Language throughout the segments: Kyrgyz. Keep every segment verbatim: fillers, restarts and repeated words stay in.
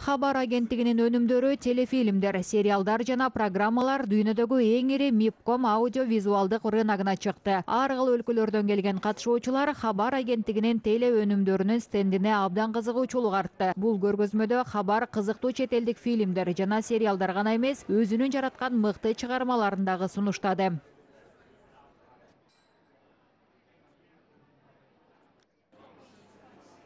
Хабар агенттигинин өнүмдөрү, телефилмдер, сериалдар жана программалар дүйнөдөгү эң ири мипком аудиовизуалдык рыногуна чыкты. Ар кыл өлкөлөрдөн келген катышуучулар Хабар агенттигинин теле өнүмдөрүнүн стендине абдан кызыгуучулук артты. Бул көргөзмөдө Хабар кызыктуу чет элдик фильмдер жана сериалдар гана эмес, өзүнүн жараткан мыкты чыгармаларын дагы сунуштады.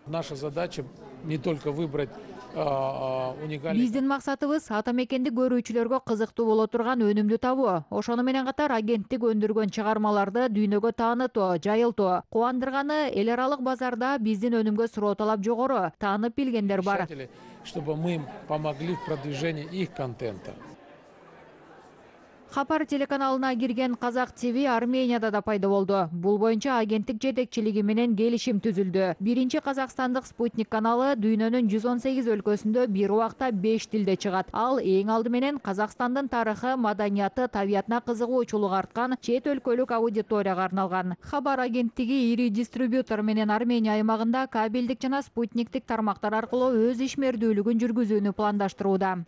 Наша задача не только выбрать уникальный. Биздин максатыбыз ата мекенди көрүүчүлөргө кызыктуу боло турган өнүмдү табуу. Ошону менен катар агенттик өндүргөн чыгармаларды дүйнөгө таанытуу, жайылтуу. Кубандырганы эл аралык базарда биздин өнүмгө суроо талап жогору, таанып билгендер бар. Чтобы мы им помогли в продвижении их контента. Хабар телеканалына кирген Казак ТВ Арменияда да пайда болду. Бул боюнча агенттик жетекчилиги менен келишим түзүлдү. Биринчи казакстандык Спутник каналы дүйнөнүн жүз он сегиз өлкөсүндө бир убакта беш тилде чыгат. Ал эң алды менен Казакстандын тарыхы, маданияты, табиятына кызыгуучулук арткан чет өлкөлүк аудиторияга арналган. Хабар агенттиги ири дистрибьютор менен Армения аймагында кабелдик жана спутниктик тармактар аркылуу өз ишмердүүлүгүн жүргүзүүнү пландаштырууда.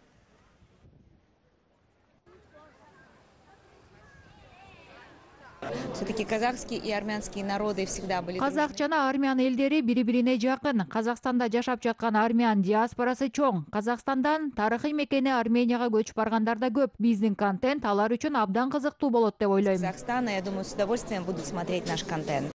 Все-таки казахские и армянские народы всегда были. Казак жана армян элдери бири-бирине жакын. Казакстанда жашап жаткан армян диаспорасы чоң. Казакстандан тарыхый мекени Арменияга көчүп баргандар да көп. Биздин контент алар үчүн абдан кызыктуу болот деп ойлойм. Казахстана, я думаю, с удовольствием будут смотреть наш контент.